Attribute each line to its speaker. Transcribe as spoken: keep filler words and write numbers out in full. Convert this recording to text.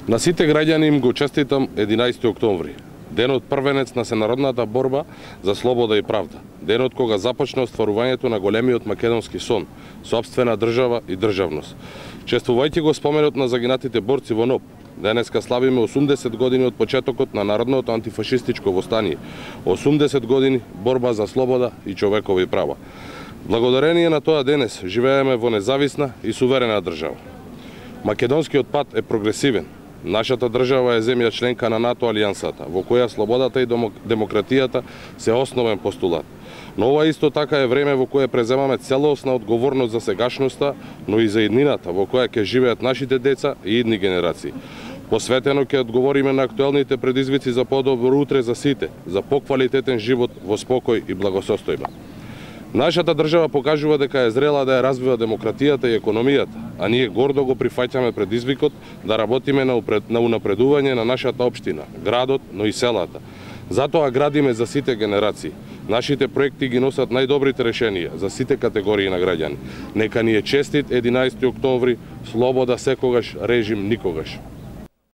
Speaker 1: На сите граѓани им го честитам единаесети октомври, денот првенец на сенародната борба за слобода и правда, денот кога започна остварувањето на големиот македонски сон, сопствена држава и државност. Чествувајќи го споменот на загинатите борци во НОБ, денеска славиме осумдесет години од почетокот на народното антифашистичко востание, осумдесет години борба за слобода и човекови права. Благодарение на тоа денес живееме во независна и суверена држава. Македонскиот пат е прогресивен. Нашата држава е земја членка на НАТО алијансата, во која слободата и демократијата се основен постулат. Но ова исто така е време во кое преземаме целосна одговорност за сегашноста, но и за иднината во која ќе живеат нашите деца и идни генерации. Посветено ќе одговориме на актуелните предизвици за подобро утре за сите, за поквалитетен живот во спокој и благосостојба. Нашата држава покажува дека е зрела да ја развива демократијата и економијата, а ние гордо го прифаќаме предизвикот да работиме на, упред, на унапредување на нашата општина, градот, но и селата. Затоа градиме за сите генерации. Нашите проекти ги носат најдобрите решенија за сите категории на граѓани. Нека ни е честит единаесети октомври, слобода секогаш, режим никогаш.